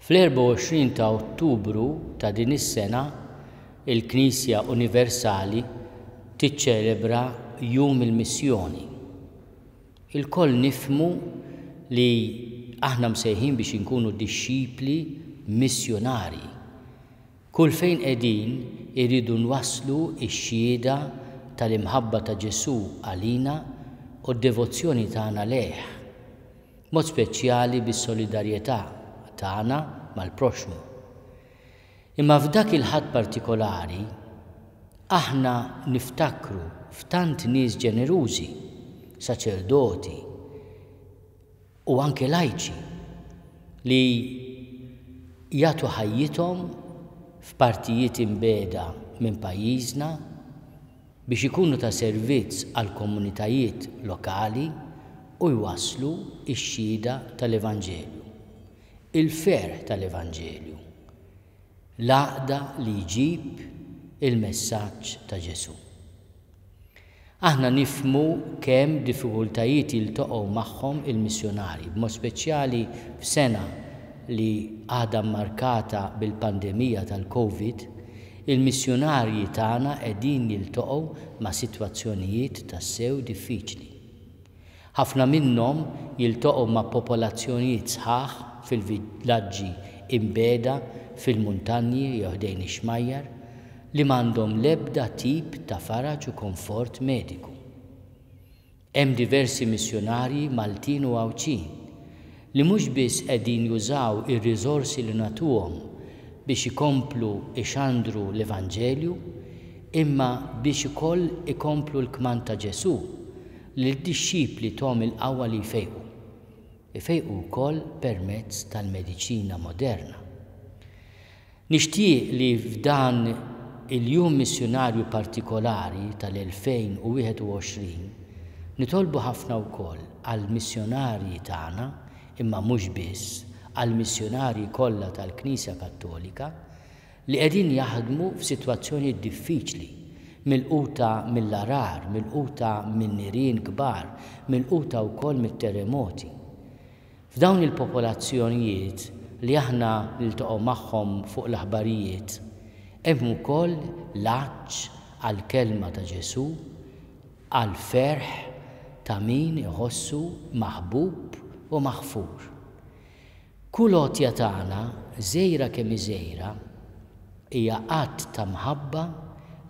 Fl-24 ta' Ottubru ta' din is-sena, il-Knisja Universali tiċċelebra Jum il-Missjoni. Ilkoll nifhmu li aħna msejħin biex inkunu dixxipli missjunarji. Kull fejn qegħdin irridu nwasslu x-xhieda tal-imħabba ta' Ġesù għalina u d-devozzjoni tagħna lejh, b'mod speċjali bis-solidarjetà tagħna mal-proxxmu. Imma f'dak il-Ħadd partikolari, aħna niftakru f'tant nies ġenerużi, saċerdoti, u anke lajċi li jagħtu ħajjithom f'partijiet imbiegħda minn pajjiżna biex ikunu ta' servizz għall-komunitajiet lokali u jwasslu x-xhieda tal-Evanġelju, il-ferħ tal-Evanġelju, l-għaqda li jġib il-messaġġ ta' Ġesù. Aħna nifhmu kemm diffikultajiet jiltaqgħu magħhom il-missjunarji, b'mod speċjali f'sena li għadha mmarkata bil-pandemija tal-Covid, il-missjunarji tagħna qegħdin jiltaqgħu ma' sitwazzjonijiet tassew diffiċli. Ħafna minnhom jiltaqgħu ma' popolazzjonijiet sħaħ fil-villaġġi imbiegħda fil-muntanji jew ħdejn ix-xmajjar li m'għandhom l-ebda tip ta' faraġ u konfort mediku. Hemm diversi missjunarji Maltin u Għawdxin li mhux biss qegħdin jużaw ir-riżorsi li nagħtuhom biex ikomplu jxandru l-Evanġelju imma biex ukoll ikomplu l-kmand ta' Ġesù li lid-dixxipli thom il-qawwa li jfejqu. Ifejqu wkoll permezz tal-mediċina moderna. Nixtieq li f'dan il-Jum Missjunarju partikolari tal-2021 nitolbu ħafna wkoll għall-missjonarji tagħna, imma mhux biss, għall-missjonarji kollha tal-Knisja Kattolika li qegħdin jaħdmu f'sitwazzjonijiet diffiċli, milquta mill-għarar, milquta minn nirien kbar, milquta wkoll mit-terremoti. F'dawn il-popolazzjonijiet li aħna niltaqgħu magħhom fuq l-aħbarijiet, hemm ukoll l-għatx għall-kelma ta' Ġesù, għall-ferħ ta' min iħossu maħbub u maħfur. Kull għotja tagħna, żgħira kemm hi żgħira, hija att ta' mħabba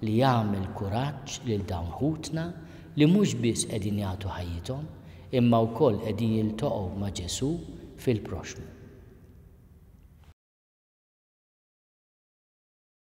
li jagħmel kuraġġ lil dawn ħutna li mhux biss qegħdin jagħtu ħajjithom, imma wkoll qegħdin jiltaqgħu ma' Ġesù fil-proxxmu.